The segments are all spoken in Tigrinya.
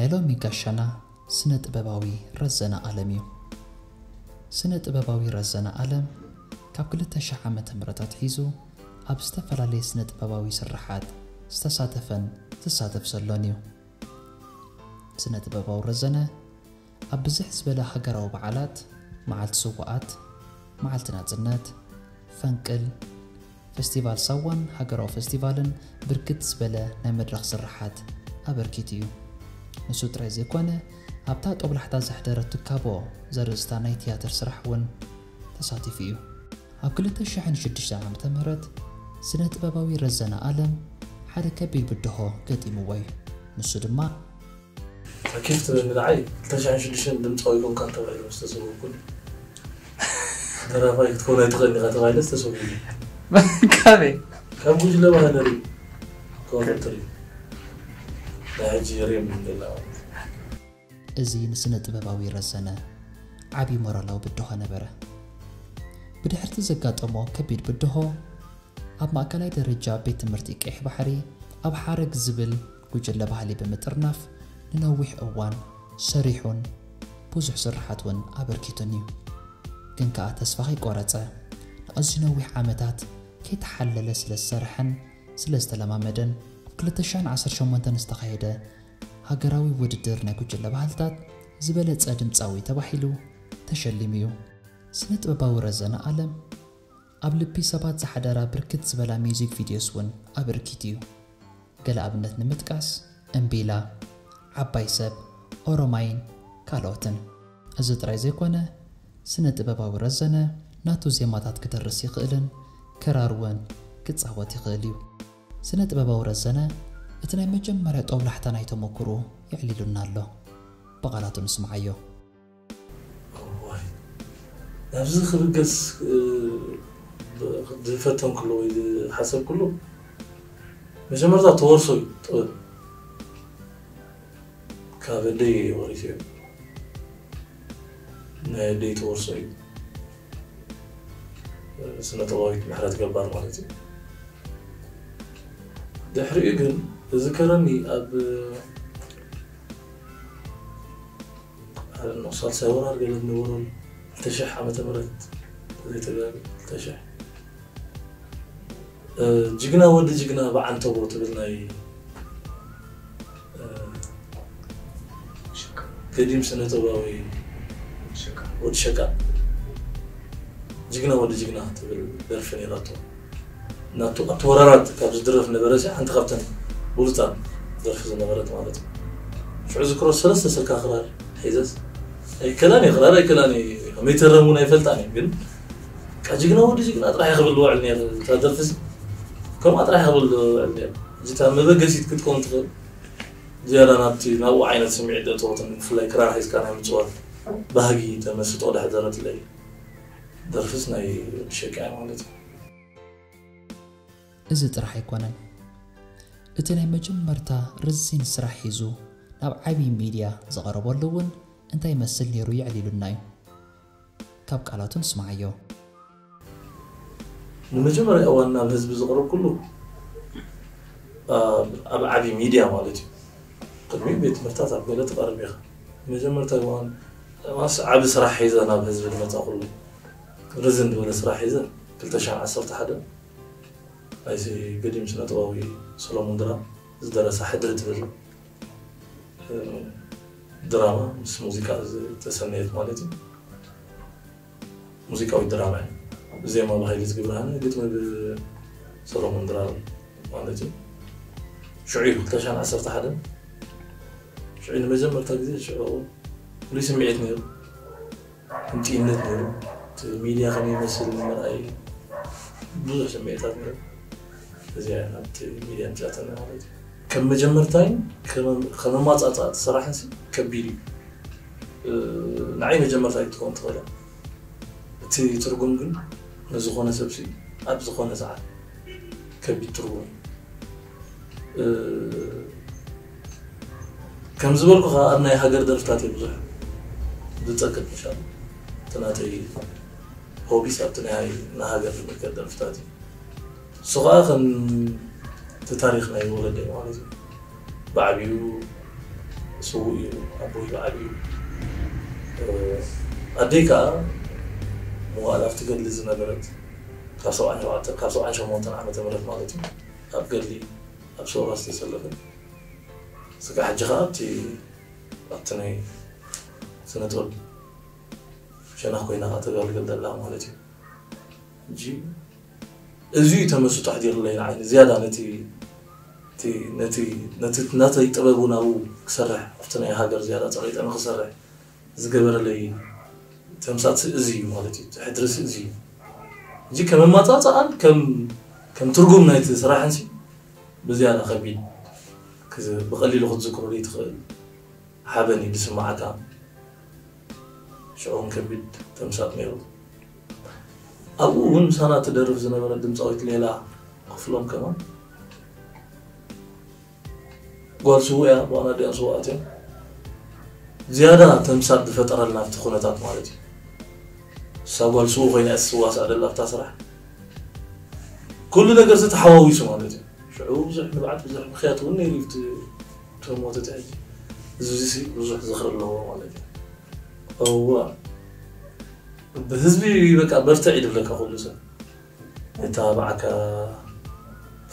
ናይ ሎሚ ጋሻና ስነ ጥበባዊ ረዘነ ኣለም እዩ። ስነ ጥበባዊ ረዘነ ኣለም ካብ ክልተ ሽሕ ዓመተ ምህረት ኣትሒዙ ኣብ ዝተፈላለየ ስነ ጥበባዊ ስርሓት ዝተሳተፈን ዝሳተፍ ዘሎን እዩ። ስነ ጥበባዊ ረዘነ ኣብ ብዝሕ ዝበለ ሃገራዊ በዓላት፣ መዓልቲ ስውኣት፣ መዓልቲ ናጽነት፣ ፈንቅል፣ ፌስቲቫል ሳዋን ሃገራዊ ፌስቲቫልን ብርክት ዝበለ ናይ መድረኽ ስርሓት ኣበርኪቱ እዩ። ንሱ ጥራይ ዘይኮነ፣ ኣብታ ጦብላሕታ ዘሕደረት ትካቦ ዘርእስታ ናይ ትያትር ስራሕ እውን ተሳቲፉ እዩ። ኣብ ክልተ ሽሕን ሽዱሽተን ዓመተ ምህረት ስነ ጥበባዊ ረዘነ ኣለም ሓደ ከቢድ ብድሆ ገጢምዎ እዩ። ንሱ ድማ ኬፍ ትብል ንዓይ ክልተ ሽሕን ሽዱሽተን ድምፃዊ ኮንካ ተባሂሉ ዝተሰወኩሉ ደራፋይ ክትከውን ኣይትኽእል ኢኻ ተባሂለ ዝተሰወኩሉ ካበይ ካብ ጉጅለ ባህለሪ ኮፈትሪ ናይ ሕጂ ሬም ንላ እዚ ንስነ ጥበባዊ ረዘነ ዓቢ ሞራላዊ ብድሆ ነበረ። ብድሕርቲ ዘጋጠሞ ከቢድ ብድሆ ኣብ ማእከላይ ደረጃ ቤት ትምህርቲ ቀይሕ ባሕሪ ኣብ ሓረግ ዝብል ጉጅለ ባህሊ ብምጥርናፍ ንነዊሕ እዋን ሰሪሑን ብዙሕ ስርሓት እውን ኣበርኪቱን እዩ። ግን ከኣ ተስፋ ከይቆረጸ ንኣዝዩ ነዊሕ ዓመታት ከይተሓለለ ስለ ዝሰርሐን ስለ ዝተለማመደን ኣብ ክልተ ሽሕን ዓሰርተ ሸሞንተን ዝተኻየደ ሃገራዊ ውድድር ናይ ጉጅለ ባህልታት ዝበለጸ ድምጻዊ ተባሂሉ ተሸሊሙ እዩ። ስነ ጥበባዊ ረዘነ ኣለም ኣብ ልቢ ሰባት ዝሓደራ ብርክት ዝበላ ሚውዚክ ቪድዮስ እውን ኣበርኪቱ እዩ። ገለ ኣብነት ንምጥቃስ እምቢላ፣ ዓባይ ሰብ፣ ኦሮማይን ካልኦትን። እዚ ጥራይ ዘይኮነ ስነ ጥበባዊ ረዘነ ናቱ ዜማታት ክደርስ ይኽእልን ክራር እውን ክጻወት ይኽእል እዩ። ስነ ጥበባዊ ረዘነ እቲ ናይ መጀመርያ ጦብላሕታ ናይ ተመክሮ የዕሊሉና ኣሎ። ብቓላቱ ንስምዓዮ። ናብዚ ክብገስ ዝፈተንኩሉ ወይ ዝሓሰብኩሉ መጀመርታ ተወርሶ እዩ ጥበብ ካብ ኣደይ ወሪሰዮ ናይ ኣደይ ተወርሶ እዩ ስነ ጥበባዊት ምሕረት ገባር ማለት እዩ ድሕሪኡ ግን ዝዝከረኒ ኣብ ሳልሳይ ወራር ገለ ዝነበሮም ክልተ ሽሕ ዓመተ ምህረት ዘይተጋቢ ክልተ ሽሕ ጅግና ወዲ ጅግና ብዓንተቦ ትብል ናይ ገዲም ስነ ጥበባዊ ወዲ ሸቃ ጅግና ወዲ ጅግና ትብል ደርፊ ነይራቶ ናቱ ኣብቲ ወራራት ካብ ዝድረፍ ነበረ ሲ ሓንቲ ካብተን ብሉፃት ደርፊ ዝነበረት ማለት እዩ ሽዑ ዝክሮ ሰለስተ ስልካ ክራር ሒዘስ ኣይከላን ክራር ኣይከላን ከመይ ተረም እውን ኣይፈልጣን ግን ጅግና ወዲ ጅግና ጥራሕ ክብል ዝውዕል ነይሩ እታ ደርፊ ከምኣ ጥራሕ ክብል ዝውዕል ነይሩ እዚታ መበገሲት ክትከውን ትኽእል ዝያዳ ናብቲ ናብኡ ዓይነት ስምዒት ደእተወትን ብፍላይ ክራር ሒዝካ ናይ ምፅዋት ባህጊ ተመስጦ ደሕደረትለይ ደርፍስ ናይ ወዲ ሸቃ ማለት እዩ እዚ ጥራሕ ኣይኮነን። እቲ ናይ መጀመርታ ረዚን ስራሕ ሒዙ ናብ ዓብዪ ሚድያ ዝቐረበሉ እውን እንታይ ይመስል ነይሩ የዕሊሉና እዩ። ካብ ቃላቱ ንስምዓዮ። ንመጀመርያ እዋን ናብ ህዝቢ ዝቐረብኩሉ ኣብ ዓብዪ ሚድያ ማለት እዩ። ቅድሚኡ ቤት ትምህርትታት ኣብ ገለ ትቐርብ ኢኻ። መጀመርታ እዋን ዓቢ ስራሕ ሒዘ ናብ ህዝቢ ዝመፃእኩሉ ርዝን ዝበለ ስራሕ ሒዘ ክልተ ሽሕን ዓሰርተ ሓደን ናይዚ ገዲም ስነ ጥበባዊ ሰሎሞን ድራም ዝደረሳ ሕድሪ ትብል ድራማ ምስ ሙዚቃ ዝተሰነየት ማለት እዩ። ሙዚቃዊ ድራማ እዩ። ዜማ ብሃይሊ ዝግብርሃነ ግጥሚ ብሰሎሞን ድራር ማለት እዩ። ሽዑ እዩ ክልተ ሽሕን ዓሰርተ ሓደን ሽዑ ንመጀመርታ ግዜ ሽዑ ፍሉይ ስምዒት ነይሩ። ህንጥይነት ነይሩ። እቲ ሚድያ ከመይ ይመስል ንምርኣይ ብዙሕ ስምዒታት ነይሩ። እዚኣ ናብቲ ሚድያ ምፅኣተና ማለት እዩ። ከም መጀመርታይን ከም ኣማፃፅኣቲ ስራሕን ከቢድ እዩ። ንዓይ መጀመርታ ኣይትኸውን ትኽእል እቲ ትርጉም ግን ንዝኾነ ሰብሲ ኣብ ዝኾነ ሰዓት ከቢድ ትርጉም እዩ ከም ዝበልኩ ከዓ ኣብ ናይ ሃገር ደርፍታት እየ ብዙሕ ዝፀቅጥ ምሻ እቲ ናተይ ሆቢስ ኣብቲ ናይ ሃገር ዝምልከት ደርፍታት እዩ እሱ ከዓ ከም እቲ ታሪክ ናይ ወለደ ማለት እዩ ብዓብዩ እሱ ስዉእ እዩ። ኣቦይ ብዓብዩ ኣደይ ከዓ መዋእለ ኣብቲ ገድሊ ዝነበረት ካብ ሰብዓን ሸውዓተን ካብ ሰብዓን ሸሞንተን ዓመተ ምህረት ማለት እዩ ኣብ ገድሊ ኣብ ሰውራ ዝተሰለፈት ስጋ ሕጂ ከዓ ኣብቲ ኣብቲ ናይ ስነ ጥበብ ሸነኽ ኮይና ከዓ ተጋልገል ዘላ ማለት እዩ። ሕጂ እዚ እዩ ተመስጦ ኣሕዲሩለይ ንዓይ ዝያዳ ነቲ ነቲ ነቲ ናተይ ጥበብ እውን ኣብኡ ክሰርሕ ኣብቲ ናይ ሃገር ዝያዳ ፀቂጠ ንክሰርሕ ዝገበረለይ ተምሳጥ እዚ እዩ ማለት እዩ። ሕድሪ እዚ እዩ። እዚ ከም ኣማፃፅኣን ከም ከም ትርጉም ናይቲ ስራሕን ሲ ብዝያዳ ከቢድ ብቀሊሉ ክትዝክሮ ዘይትኽእል ሓበን እዩ ዝስማዓካ። ሽዑ እውን ከቢድ ተምሳጥ ነይሩ። ኣብኡ እውን ምሳና ትደርፍ ዝነበረት ድምፃዊት ሌላ ክፍሎም ከማን ጓል ስውእ እያ። ብዋና ዲኣን ስውኣት እዮም። ዝያዳ ተምሳጥ ዝፈጠረልና ኣብቲ ኩነታት ማለት እዩ። እሳ ጓል ስውእ ኮይና እያ ትዋሳእ ዘላ ኣብታ ስራሕ። ኩሉ ነገር ዝተሓዋዊሱ ማለት እዩ። ሽዑ ብዙሕ ንብዓት ብዙሕ ምክያት እውን ነይሩ እዩ። እቶም ሞተት ሕጂ እዚ ብዙሕ ዝኽሪ ኣለዎ ማለት እዩ። እዋ ብህዝቢ በቃ በርትዕ ይድብለካ ኩሉ ሰብ። እታ ብዓካ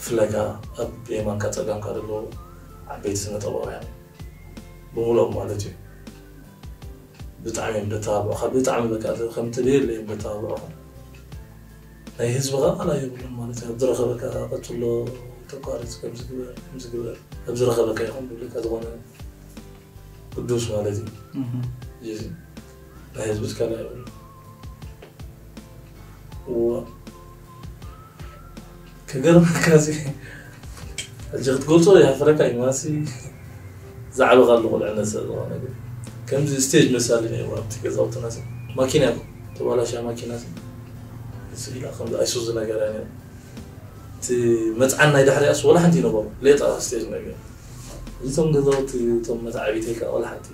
ፍለጋ ኣብ የማንካ ፀጋምካ ዘለዉ ዓበይቲ ስነ ጥበባውያን ብምልኦም ማለት እዩ። ብጣዕሚ እዮም ደተባብዑካ ብጣዕሚ በቃ ከምቲ ደየለ እዮም ደተባብዑካ። ናይ ህዝብኻ ቃላ የብሉን ማለት እዩ። ኣብ ዝረኸበካ ቀትሎ ተቋርፅ ከምዝግበር ከምዝግበር ኣብ ዝረኸበካ ይኹን ብልካ ዝኾነ ቅዱስ ማለት እዩ። እዚ ናይ ህዝቢ ትካላ የብሉ እዋ ከገርመካ እዚ ሕጂ ክትገልፆ ይሓፍረካ እዩ ማሲ ዝዓበኻሉ ቁልዕነት ስለ ዝኾነ ግን ከምዚ ስቴጅ መሳሊ ነይሩ ኣብቲ ገዛውትና ሲ ማኪና እኮ ተባላሻ ማኪና ሲ ስኢላ ከምዚ ኣይሱዙ ነገር እያ ነይሩ እቲ መፅዓን ናይ ድሕሪኣስ ወላ ሓንቲ ይነበሩ ሌጣ ስቴጅ ነገር እዚቶም ገዛውቲ እቶም መተዓቢተይ ከዓ ወላ ሓንቲ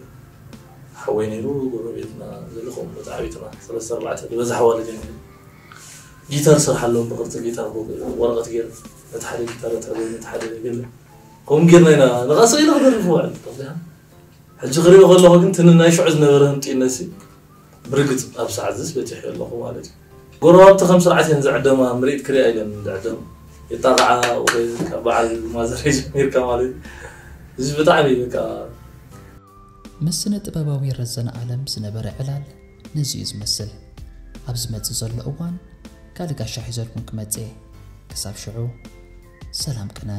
ሓወይ ነይሩ ጎረቤትና ዘለኹም መተዓቢትና ሰለስተ ኣርባዕተ ዝበዝሓ ዋልድ እዮም ጊታር ስርሓሎም ብቅርፂ ጊታር ወረቐት ገይሩ ነቲ ሓደ ጊታር ተዕበ ነቲ ሓደ ገለ ከምኡ ጌርና ኢና ንቐሰ ኢለ ክደርፍ ውዕል ሕጂ ክሪኦ ከለኹ ግን ትንናይ ሽዑ ዝነበረ ህምጢነሲ ብርግፅ ኣብ ሰዓት ዝስ በፂሑ ኣለኹ ማለት እዩ ጎረባብቲ ከም ስርዓት እየን ዝዕደማ ምርኢት ክሪኣ ኢለን ዝዕደም የጣቕዓ በዓል ማዘር ጀሚርካ ማለት እዩ እዚ ብጣዕሚ በቃ ምስ ስነ ጥበባዊ ረዘነ ኣለም ዝነበረ ዕላል ነዚ እዩ ዝመስል። ኣብ ዝመጽእ ዘሎ እዋን ካልእ ጋሻ ሒዘልኩም ክመጽእ እየ። ክሳብ ሽዑ ሰላም ቅነ።